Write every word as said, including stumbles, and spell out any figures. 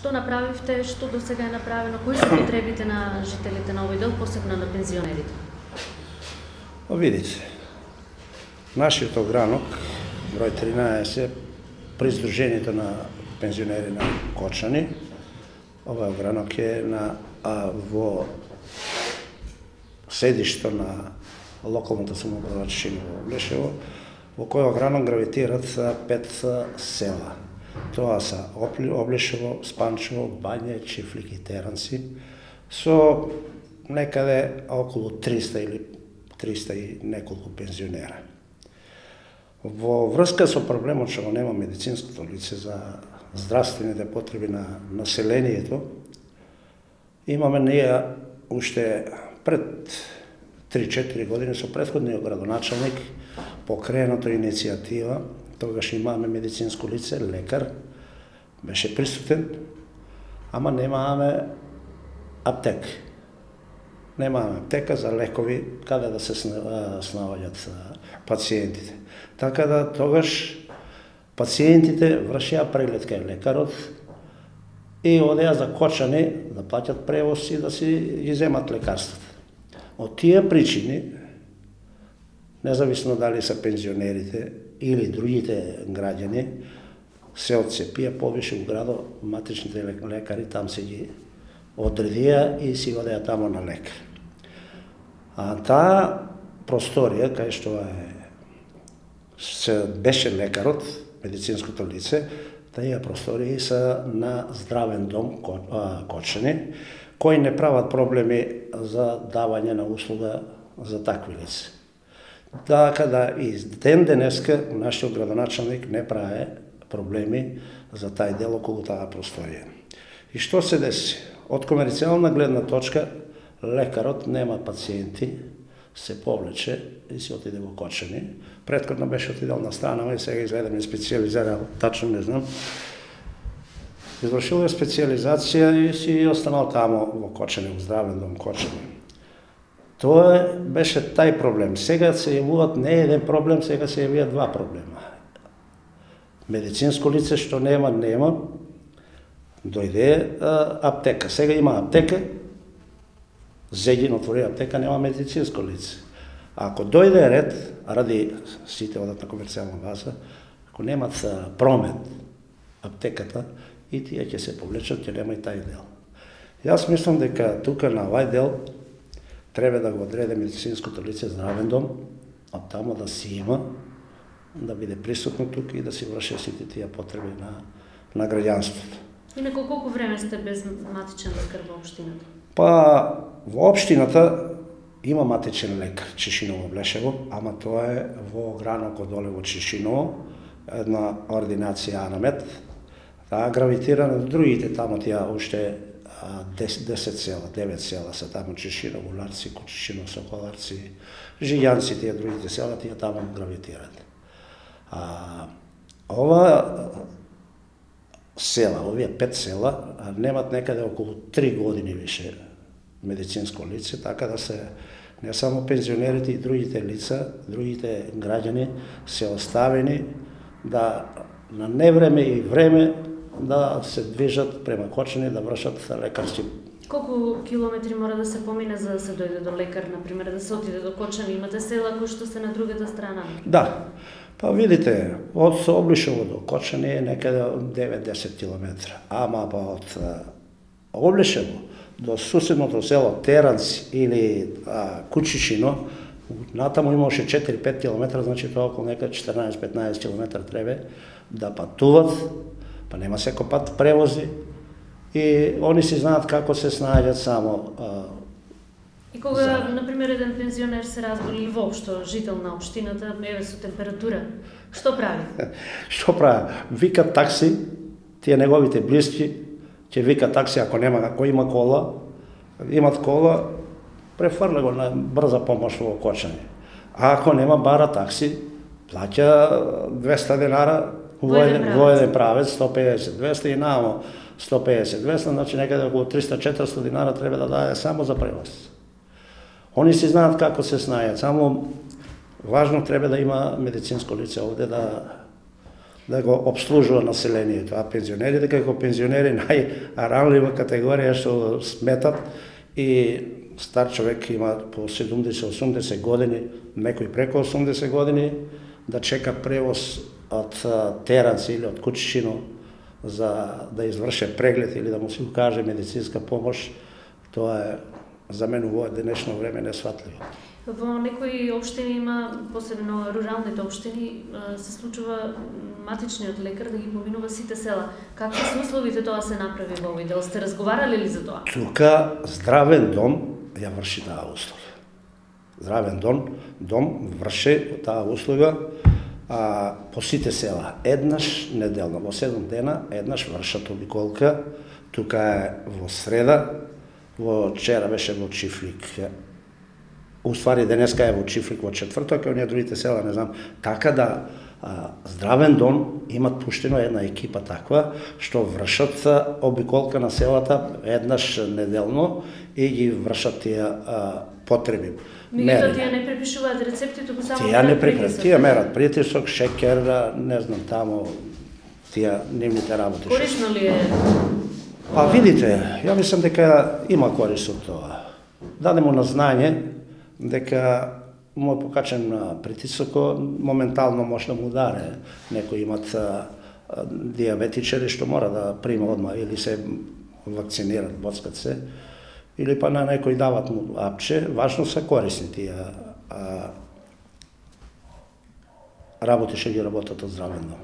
Што направивте, што до сега е направено, кои се потребите на жителите на овој дел, посебно на пензионерите? Видите, нашиот огранок, број тринаесет, при Сдруженијето на пензионери на Кочани, овој огранок е на, а, во седишто на локалната самоуправа Чешиново Облешево, во кој огранок гравитират пет села. Тоа са Облешево, Спанчево, Бања, Чифлик и Теранци, со некаде околу триста или триста и неколку пензионера. Во врска со проблемот што нема медицинското лице за здравствените потреби на населението, имаме ние уште пред три-четири години со претходниот градоначалник покренато иницијатива. Тогаш имаме медицинско лице, лекар, беше присутен, ама немаме аптека. Немаме аптека за лекови каде да се снаоѓат пациентите. Така да тогаш пациентите вршија преглед кај лекарот и одеа за Кочани да плаќат превоз и да си ги земат лекарствата. Од тие причини, независно дали се пензионерите или другите граѓани, се одцепија повише у градот, матричните лекари там се ги одредија и си одеа тамо на лекар. А таа просторија, кај што е, се беше лекарот, медицинското лице, таа просторија се на здравен дом Кочани, кои не прават проблеми за давање на услуга за такви лица. Така да и ден денеска нашиот градоначалник не прави проблеми за тај дел околу таа просторија. И што се деси? Од комерцијална гледна точка, лекарот нема пациенти, се повлече и се отиде во Кочани. Претходно беше отидел на Странава и сега изгледа ми специализирал, тачно не знам. Извршил е специализација и си останал тамо во Кочани, во здравен дом Кочани. Тоа беше тај проблем. Сега се јавуваат не еден проблем, сега се јавуваат два проблема. Медицинско лице што нема, нема, дојде а, аптека. Сега има аптека, Зегин отвори аптека, нема медицинско лице. А ако дојде ред, ради сите одат на комерцијална база, ако немат промет аптеката, и тие ќе се повлечат, ќе нема и тај дел. Јас мислам дека тука на овај дел треба да го одреде медицинското лице здравен дом, а тамо да си има, да биде присутно тука и да си врши сите тие потреби на, на граѓанството. Инаку колку време сте без матичен лекар во општината? Па, во општината има матичен лекар, Чешиново Облешево, ама тоа е во огранокот доле во Чешиново, една ординација Анамет. Таа гравитира на другите, тамо тие уште десет села, девет села се тамо Чешиново, Уларци, Кочишино, Соколарци, Жијанци, тие другите села, тие тамо гравитират. А, ова села, овие пет села, немат некаде околу три години више медицинско лице, така да се не само пензионерите и другите лица, другите граѓани се оставени да на невреме и време да се движат према Кочани, да вршат лекарски. Колку километри мора да се помине за да се дојде до лекар, например, да се отиде до Кочани? Имате села кои што се на другата страна? Да. Па видите, од Облешево до Кочани е некаде девет-десет километра. Ама па од Облешево до суседното село Теранци или а, Кучишино, натаму има уште четири-пет километра, значи тоа околу некаде четрнаесет-петнаесет километра треба да патуват, па нема секој пат превози и они си знаат како се снаоѓаат само. А, и кога, за... например, еден пензионер се разболи или воопшто жител на општината, еве со температура, што прави? Што прави? Вика такси, тие неговите блиски, ќе вика такси ако нема, ако има кола, имат кола, префрля го на брза помош во Кочани. А ако нема, бара такси, плаќа двеста денара во еден правец, сто педесет двеста и намо сто педесет двеста, значи некаде околу триста-четиристо динара треба да даде само за превоз. Они си знаат како се снајат, само важно треба да има медицинско лице овде да да го обслужува населението, а пензионерите како пензионери најранлива категорија што сметат и стар човек има по седумдесет-осумдесет години, некој преку осумдесет години, да чека превоз од Теранс или од Кучичино за да изврше преглед или да му се укаже медицинска помош, тоа е за мен во денешно време несватливо. Во некои општини има, посебно руралните општини, се случува матичниот лекар да ги поминува сите села. Какви се условите тоа се направи во овој дел? Сте разговарале ли за тоа? Тука Здравен дом ја врши таа услуга. Здравен дом, дом врши таа услуга а, по сите села. Еднаш неделно, во седум дена, еднаш вршат обиколка. Тука е во среда, во вчера беше во Чифлик. Уствари денеска е во Чифлик во четврток, а оние другите села не знам. Така да а, Здравен дом имат пуштено една екипа таква што вршат обиколка на селата еднаш неделно и ги вршат тие а, потреби. Меѓутоа тие не препишуваат рецепти, туку само тие не препишуваат, тие мерат притисок, шекер, не знам таму тие нивните работи. Корисно ли е? А видите, ја мислам дека има корист од тоа. Даде му на знање дека му е покачен притисокот, моментално може да му ударе. Некои имат а, диабетичари што мора да прима одма или се вакцинират, боцкат се, или па на некој дават му апче. Важно се корисни тие а, работи што ги работат од Здравен дом.